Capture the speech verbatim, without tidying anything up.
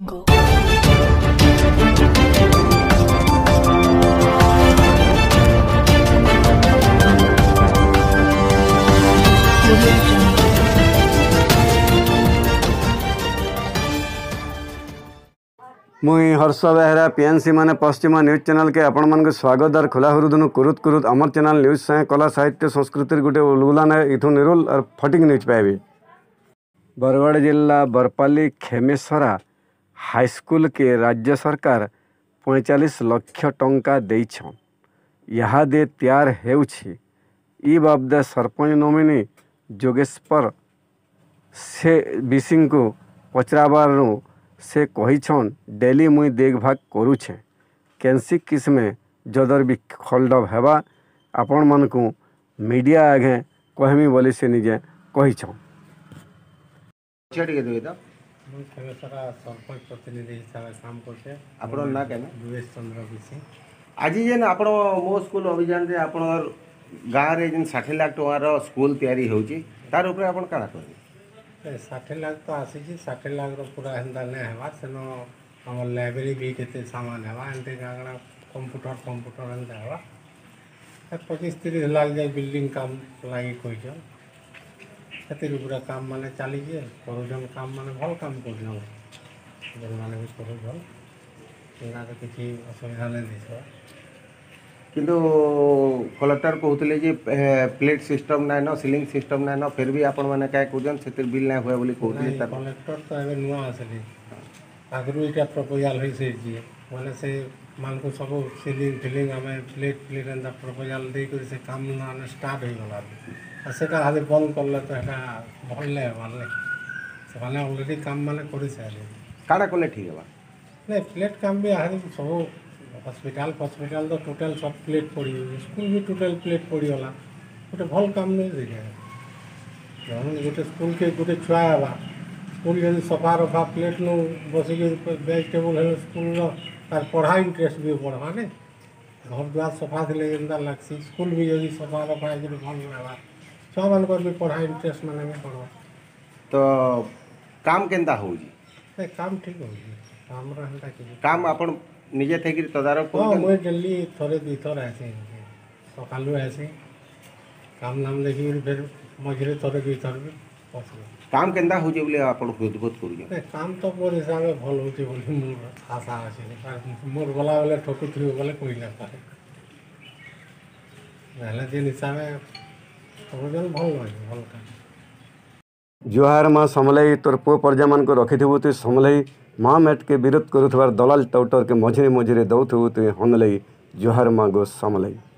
ମୁଇଁ ହର୍ଷ ବେହେରା, PNC ମାନେ ପଶ୍ଚିମ ନ୍ୟୁଜ୍ ଚ୍ୟାନେଲକେ ଆପଣମାନଙ୍କୁ ସ୍ୱାଗତ ଆର୍ ଖୋଲା ହୃଦୟନୁ କୁରୁତ କୁରୁତ। ଆମର ଚ୍ୟାନେଲ ନ୍ୟୁଜ୍ ସାଙ୍ଗେ କଲା, ସାହିତ୍ୟ, ସଂସ୍କୃତିର ଗୋଟେ ଉଲଗୁଲାନ ଇଥୁ ନିରୁଲ ଆର୍ ଫଟିକ ନ୍ୟୁଜ୍ ପାଇବେ। ବରଗଡ଼ ଜିଲ୍ଲା ବରପାଲି ଖେମେଶ୍ୱରା ହାଇସ୍କୁଲକେ ରାଜ୍ୟ ସରକାର ପଇଁଚାଳିଶ ଲକ୍ଷ ଟଙ୍କା ଦେଇଛନ୍। ଇହାଦେ ତିଆର ହେଉଛି। ଇ ବାବଦେ ସରପଞ୍ଚ ନୋମିନି ଯୋଗେଶ୍ୱର ସେ ବିସିଙ୍କୁ ପଚରାବାରୁ ସେ କହିଛନ୍, "ଡେଲି ମୁଇଁ ଦେଖଭାଗ କରୁଛେ, କେନ୍ସି କିସମେ ଯଦର ବି ଖଲଡବ ହେବା, ଆପଣମାନଙ୍କୁ ମିଡିଆ ଆଗେ କହେମି" ବୋଲି ସେ ନିଜେ କହିଛନ୍। ପଛେ ଟିକେ ଦେବେ ତ। ମୁଁ କେବେ ସାରା ସରପଞ୍ଚ ପ୍ରତିନିଧି ହିସାବରେ କାମ କରୁଛେ। ଆପଣଙ୍କ ନାଁ କେନ? ଦୁବେଶ ଚନ୍ଦ୍ର ବିଶି। ଆଜି ଯେନ୍ ଆପଣ ମୋ ସ୍କୁଲ ଅଭିଯାନରେ ଆପଣଙ୍କର ଗାଁରେ ଯେନ୍ ଷାଠିଏ ଲାଖ ଟଙ୍କାର ସ୍କୁଲ ତିଆରି ହେଉଛି, ତାର ଉପରେ ଆପଣ କାଣା କହିବେ? ଏ ଷାଠିଏ ଲାଖ ତ ଆସିଛି, ଷାଠିଏ ଲାଖର ପୁରା ହେନ୍ତା ନାଇଁ ହେବା, ସେନ ଆମର ଲାଇବ୍ରେରୀ ବି କେତେ ସାମାନ ହେବା, ଏମିତି କାଣା କମ୍ପ୍ୟୁଟର ଫମ୍ପ୍ୟୁଟର ଏମିତି ହେବା। ଏ ପଚିଶ ତିରିଶ ଲାଖ ଯାଏ ବିଲ୍ଡିଂ କାମ ଲାଗି କହିଛନ୍। ସେଥିରେ ପୁରା କାମ ମାନେ ଚାଲିଛେ, କରୁଛନ୍ କାମ ମାନେ ଭଲ କାମ କରୁଛନ୍, ଯେଉଁମାନେ ବି କରୁଛନ୍, ଏଇଟା ତ କିଛି ଅସୁବିଧା ନାଇଁ ଦିଶବା। କିନ୍ତୁ କଲେକ୍ଟର କହୁଥିଲେ ଯେ, ଏ, ପ୍ଲେଟ ସିଷ୍ଟମ ନାଇଁନ, ସିଲିଂ ସିଷ୍ଟମ ନାଇଁନ, ଫେର ବି ଆପଣମାନେ କାଇଁ କରୁଛନ୍, ସେଥିରେ ବିଲ୍ ନାଇଁ ହୁଏ ବୋଲି କହୁଥିଲେ। ନାଇଁ, ତାର କଲେକ୍ଟର ତ ଏବେ ନୂଆ ଆସିଲେ, ଆଗରୁ ଏଇଟା ପ୍ରପୋଜାଲ ହେଇସାରିଛି, ମାନେ ସେମାନଙ୍କୁ ସବୁ ସିଲିଂ ଫିଲିଂ ଆମେ ପ୍ଲେଟ ପ୍ଲେଟ ଏନ୍ତା ପ୍ରପୋଜାଲ ଦେଇକରି ସେ କାମ ମାନେ ଷ୍ଟାର୍ଟ ହେଇଗଲା। ଆଉ ସେଟା ଖାଲି ବନ୍ଦ କଲେ ତ ଏଟା ଭଲ ନାଇଁ ହେବାର ନାଇଁ। ସେମାନେ ଅଲରେଡି କାମ ମାନେ କରିସାରିଲେ। କାଣା କଲେ ଠିକ୍ ହେବା? ନାଇଁ, ପ୍ଲେଟ କାମ ବି ଆହୁରି ସବୁ ହସ୍ପିଟାଲ ଫସ୍ପିଟାଲ ତ ଟୋଟାଲ ସବୁ ପ୍ଲେଟ ପଡ଼ିଯାଉଛି, ସ୍କୁଲ ବି ଟୋଟାଲ ପ୍ଲେଟ ପଡ଼ିଗଲା। ଗୋଟେ ଭଲ କାମ ନାଇଁ ସେଇଟା। ଜଣେ ଗୋଟେ ସ୍କୁଲକେ ଗୋଟେ ଛୁଆ ହେବା, ସ୍କୁଲ ଯଦି ସଫା ରଫା ପ୍ଲେଟ ନୁ ବସିକି ବେଞ୍ଚ ଟେବୁଲ ହେଲେ ସ୍କୁଲର ତାର ପଢ଼ା ଇଣ୍ଟରେଷ୍ଟ ବି ବଢ଼ବା ନାଇଁ। ଘର ଦୁଆର ସଫା ଥିଲେ ଯେନ୍ତା ଲାଗ୍ସି, ସ୍କୁଲ ବି ଯଦି ସଫା ରଫା ହେଇକରି ଭଲ ହେବା, ଛୁଆମାନଙ୍କର ବି ପଢ଼ା ଇଣ୍ଟରେଷ୍ଟ ମାନେ ବି ବଢ଼ବା। ତ କାମ କେନ୍ତା ହଉଛି? ଏ କାମ ଠିକ୍ ହଉଛି, ଆମର ହେନ୍ତା କିଛି କାମ ଆପଣ ନିଜେ ଥାଇକିରି ତଦାରଖ ହଁ, କରୁଛନ୍ତି? ମୁଇଁ ଡେଲି ଥରେ ଦି ଥର ଆସି, ସକାଳୁ ଆସି, କାମ ନାମ ଦେଖିକିରି ଫେର ମଝିରେ ଥରେ ଦି ଥର ବି ବସି। କାମ କେନ୍ତା ହଉଛି ବୋଲି ଆପଣ ହୃଦବୋଧ କରୁଛନ୍ତି? ଏ କାମ ତ ମୋର ହିସାବରେ ଭଲ ହଉଛି ବୋଲି ମୋର ଆଶା ଅଛି। ମୋର ଗଲାବେଳେ ଠକୁଥିବି ବୋଲେ କହି ନା ପାରେ। ନହେଲେ ଯେନ୍ ହିସାବେ କରୁଛନ୍ ଭଲ ହଉଛି, ଭଲ କାମ। ଜୁହାର ମା ସମଲେଇ, ତୋର ପୁଅ ପରଜାମାନଙ୍କୁ ରଖିଥିବୁ ତୁଇ ସମଲେଇ। ମା ମେଟକେ ବିରୋଧ କରୁଥିବାର ଦଲାଲ ଟାଉଟରକେ ମଝିରେ ମଝିରେ ଦଉଥିବୁ ତୁଇ ହନଲେଇ। ଜୁହାର ମା ଗୋ ସମଲେଇ।